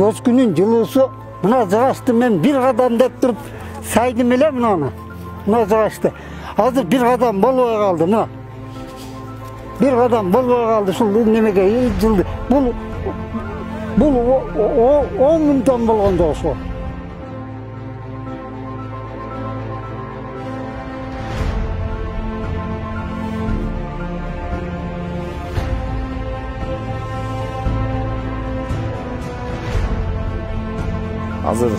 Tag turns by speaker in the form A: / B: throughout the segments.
A: көчкүнүн жылуусу мына жыгачты мен бир кадам деп туруп сайдым эле мына жыгачты. Азыр бир кадам болбой калды мына. Бир кадам болбой калды ушул немеге жылды. Бул 10 миң тонн болгондо ошо.
B: Азыр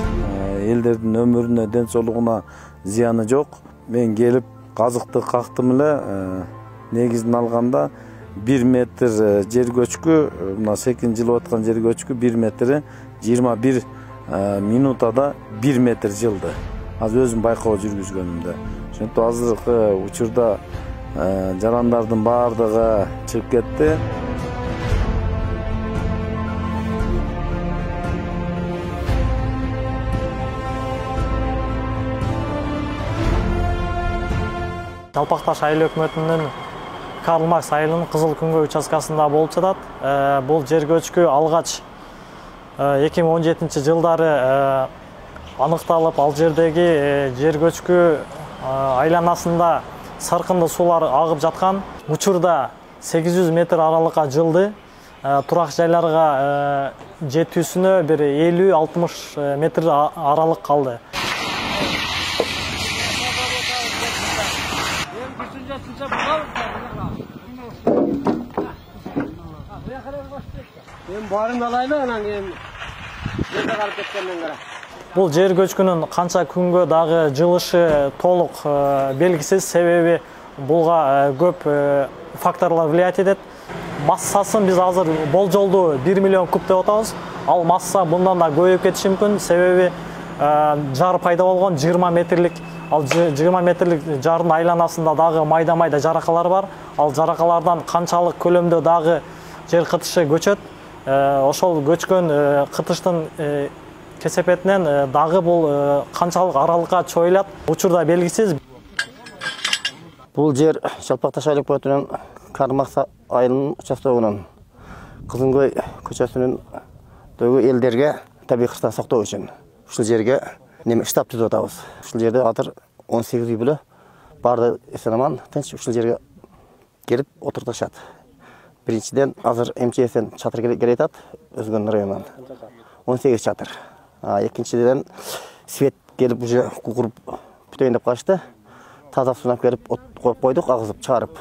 B: элдердин өмүрүнө, ден соолугуна зыяны жок. Мен келип казыкты кактым эле. Негизин алганда 1 метр жер көчкү, мына секин жылып аткан жер көчкү 1 метри 21 минутада 1 метр жылды. Азыр өзүм байкоо жүргүзгөнүмдө. Ошентип азыркы учурда жарандардын баардыгы чыгып кетти.
C: Жалпакташ айыл өкмөтүнүн Карл Маркс айылынын Кызыл Күнгөй участкасында болуп жатат. Бул жер көчкү алгач 2017 жылдары аныкталып, ал жердеги жер көчкү айланасында саркынды суулар агып жаткан. Учурда 800 метр аралыкка жылды. Турак жайларга жетүүсүнө бир 50-60 метр аралык калды. Бул жер көчкүнүн канча күнгө дагы жылышы толук белгисиз, себеби буга көп факторлор влиять этет. Массасын биз азыр болжолдуу 1 миллион куб деп атабыз. Ал масса мындан да көбөйүп кетиши мүмкүн, себеби жар пайда болгон 20 метрлик. Ал 20 метрлик жардын айланасында дагы майда-майда жаракалар бар. Ал жаракалардан канчалык көлөмдө дагы жер кытышы көчөт. Ошол көчкөн кытыштын кесепетинен дагы бул канчалык аралыкка чоюлат, учурда белгисиз.
D: Бул жер Жалпакташ айыл өкмөтүнүн Карл Маркс айылынын участогунун Кызылкөй көчөсүнүндөгү элдерге табий кырсыктан сактоо үчүн ушул жерге штаб түзүп атабыз. Ушул жерде азыр 18 үй бүлө баардыгы эсен-аман тынч ушул жерге келип отуртушат. Биринчиден азыр МЧСтен чатыр келе жатат, Өзгөн районунан 18 чатыр. Экинчиден свет келип уже куруп бүтөйүн деп калышты. Таза сунап келип коюп койдук, агызып чыгарып.